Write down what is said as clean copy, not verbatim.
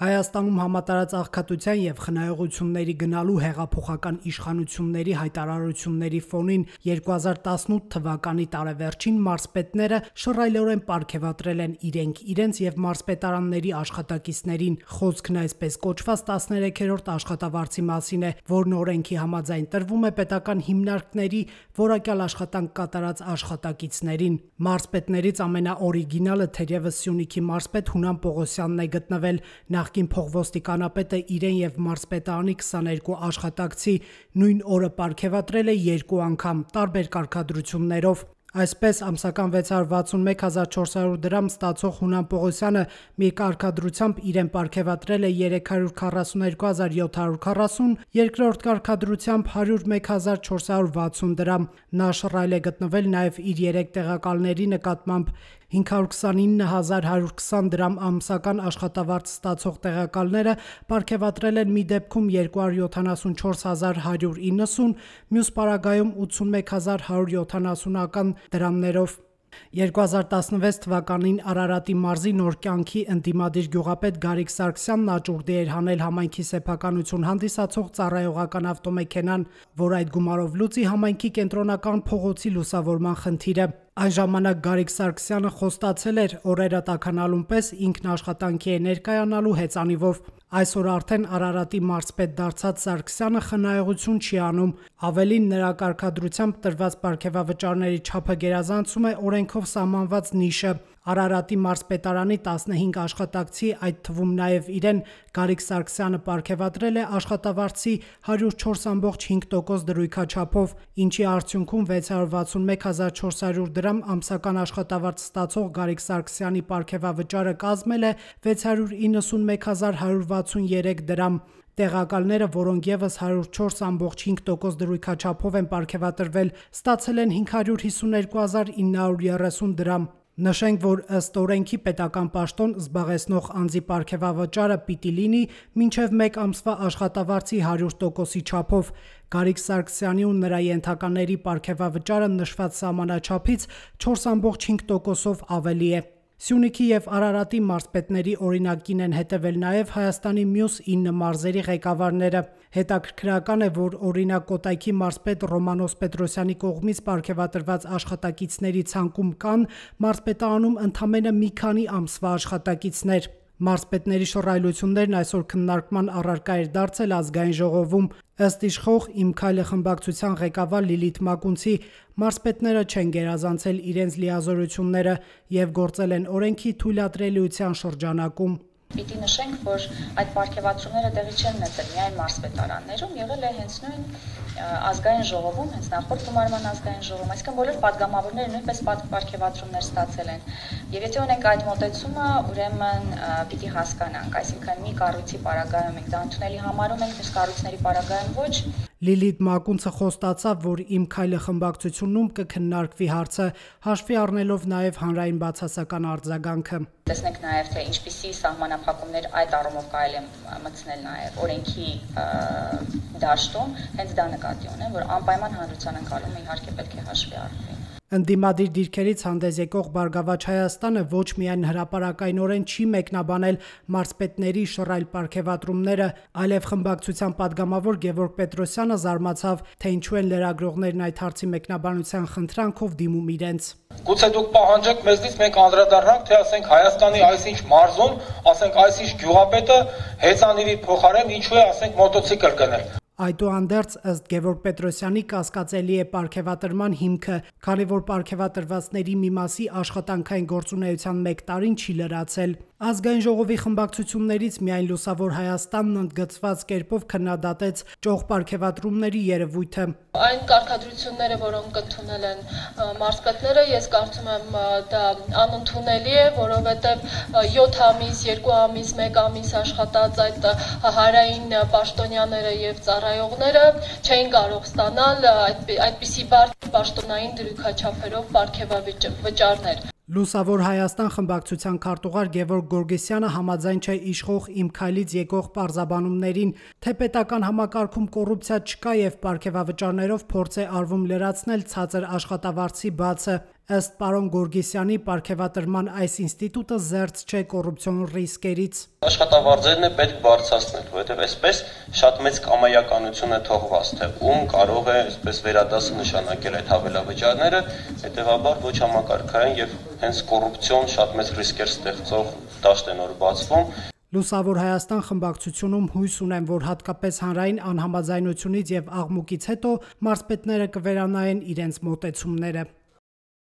Հայաստանում համատարած աղքատության և խնայողությունների գնալու հեղափոխական իշխանությունների հայտարարությունների ֆոնին 2018 թվականի տարեվերջին մարզպետները շռայլորեն պարգևատրել են իրենք իրենց և մարզպետարանների աշխատակիցներին։ Խոսքն այսպես կոչված 13-րդ աշխատավարձի մասին է, որն օրենքի համաձայն տրվում է պետական հիմնարկների որակյալ աշխատանք կատարած աշխատակիցներին։ Մարզպետներից ամենաօրիգինալը թերևս Սյունիքի մարզպետ Հունան Պողոսյանն է գտնվել։ Նախկին փոխոստիկանապետը իրեն և մարզպետարանի 22 աշխատակցի նույն օրը պարգևատրել է 2 անգամ տարբեր կարգադրություններով։ Այսպես ամսական 661.400 դրամ ստացող Հունան Պողոսյանը մի կարգադրությամբ իրեն պարգևատրել է 342.740, երկրորդ կարգադրությամբ 101.460 դրամ։ Նա շռայլ է գտնվել նաև իր 3 տեղակալների նկատմամբ 529.120 դրամ ամսական աշխատավարձ ստացող տեղակալները պարգևատրել են մի դեպքում 274.190, մյուս պարագայում 81.170 դրամներով։ 2016 թվականին Արարատի մարզի Նոր կյանքի ընդդիմադիր գյուղապետ Գարիկ Սարգսյանն աճուրդի էր հանել համայնքի սեփականություն հանդիսացող ծառայողական ավտոմեքենան, որ այդ գումարով լուծի համայնքի կենտրոնական փողոցի լուսավորման խնդիրը։ Այն ժամանակ Գարիկ Սարգսյանը խոստացել էր օրերը տաքանալուն պես ինքն աշխատանքի է ներկայանալու հեծանիվով։ Այսօր արդեն Արարատի մարզպետ դարձած Սարգսյանը խնայողություն չի անում։ Ավելին, նրա կարգադրությամբ տրված պարգևավճարների չափը գերազանցում է օրենքով սահմանված նիշը։ Արարատի մարզպետարանի 15 աշխատակցի, այդ թվում նաև իրեն, Գարիկ Սարգսյանը պարգևատրել է աշխատավարձի 104.5% դրույքաչափով, ինչի արդյունքում 661.400 դրամ ամսական աշխատավարձ ստացող Գարիկ Սարգսյանի պարգևավճարը կազմել է 691.163 դրամ։ Տեղակալները, որոնք ևս 104.5% դրույքաչափով են պարգևատրվել, ստացել են 552.930 դրամ։ Նշենք, որ ըստ օրենքի պետական պաշտոն զբաղեցնող անձի պարգևավճարը պիտի լինի մինչև 1 ամսվա աշխատավարձի 100%-ի չափով։ Գարիկ Սարգսյանի ու նրա ենթակաների պարգևավճարը նշված սահմանաչափից 4.5%-ով ավելի է։ Սյունիքի և Արարատի մարզպետների օրինակին են հետևել նաև Հայաստանի մյուս 9 մարզերի ղեկավարները։ Հետաքրքրական է, որ օրինակ Կոտայքի մարզպետ Ռոմանոս Պետրոսյանի կողմից պարգևատրված աշխատակիցների ցանկում կան մարզպետարանում ընդամենը մի քանի ամսվա աշխատակիցներ։ Մարզպետների շռայլություններն այսօր քննարկման առարկա էր դարձել ազգային ժողովում։ Ըստ իշխող «Իմ քայլը» խմբակցության ղեկավար Լիլիթ Մակունցի, մարզպետները չեն գերազանցել իրենց լիազորությունները և գործել են օրենքի թույլատրելիության շրջանակում։ Պիտի նշենք, որ այդ պարգևատրումները տեղի չեն ունեցել միայն մարզպետարաններում, եղել է հենց նույն ազգային ժողովում, հենց նախորդ գումարման ազգային ժողովում, այսինքն բոլոր պատգամավորները նույնպես պարգևատրումներ ստացել են։ Եվ եթե ունենք այդ մոտեցումը, ուրեմն պիտի հասկանանք, այսինքն մի կառույցի պարագայում ենք դա ընդունելի համարում ենք, մյուս կառույցների պարագայում ոչ։ Լիլիթ Մակունցը խոստացավ, որ «Իմ քայլը» խմբակցությունում կքննարկվի հարցը, հաշվի առնելով նաև հանրային բացասական արձագանքը։ Տեսնենք նաև, թե ինչպիսի սահմանափակումներ այդ առումով կարելի է մտցնել նաև օրենքի դաշտում, հենց դա նկատի ունեմ, որ անպայման հանրության ընկալումը իհարկե պետք է հաշվի առնվի։ Ընդդիմադիր դիրքերից հանդես եկող Բարգավաճ Հայաստանը ոչ միայն հրապարակայնորեն չի մեկնաբանել մարզպետների շռայլ պարգևատրումները, այլև խմբակցության պատգամավոր Գևորգ Պետրոսյանը զարմացավ, թե ինչու են լրագրողներն այդ հարցի մեկնաբանության խնդրանքով դիմում իրենց։ Գուցե դուք պահանջեք մեզնից մենք անդրադառնանք, թե ասենք Հայաստանի այսինչ մարզում, ասենք այսինչ գյուղապետը հեծանիվի փոխարեն ինչու է ասենք մոտոցիկլ գնել։ Այդուհանդերձ, ըստ Գևորգ Պետրոսյանի, կասկածելի է պարգևատրման հիմքը, քանի որ պարգևատրվածների մի մասի աշխատանքային գործունեության 1 տարին չի լրացել։ Ազգային ժողովի խմբակցություններից միայն Լուսավոր Հայաստանն ընդգծված կերպով քննադատեց ճոխ պարգևատրումների երևույթը։ Այն կարգադրությունները, որոնք ընդունել են մարզպետները, ես կարծում եմ դա անընդունելի է, որովհետև 7 ամիս, 2 ամիս, 1 ամիս աշխատած այդ հարային պաշտոնյաները եւ ծառայողները չէին կարող ստանալ այդպիսի բարդ պաշտոնային դրույքաչափերով պարգևավճարներ։ Լուսավոր Հայաստան խմբակցության քարտուղար Գևորգ Գորգեսյանը համաձայն չէ իշխող «Իմ քայլից» եկող պարզաբանումներին, թե պետական համակարգում կոռուպցիա չկա և պարգևավճարներով փորձ է արվում լրացնել ցածր աշխատավարձի բացը։ Ըստ պարոն Գորգիսյանի, պարգևատրման այս ինստիտուտը զերծ չէ կոռուպցիոն ռիսկերից։ Աշխատավարձերն է պետք բարձրացնել, որովհետև այսպես շատ մեծ կամայականություն է թողված, թե ում կարող է այսպես վերադասը նշանակել այդ հավելավճարները, հետևաբար ոչ համակարգային եւ հենց կոռուպցիոն շատ մեծ ռիսկեր ստեղծող դաշտ են որ բացվում։ Լուսավոր Հայաստան խմբակցությունում հույս ունեն, որ հատկապես հանրային անհամաձայնությունից եւ աղմուկից հետո մարզպետները կվերանայեն իրենց մոտեցումները։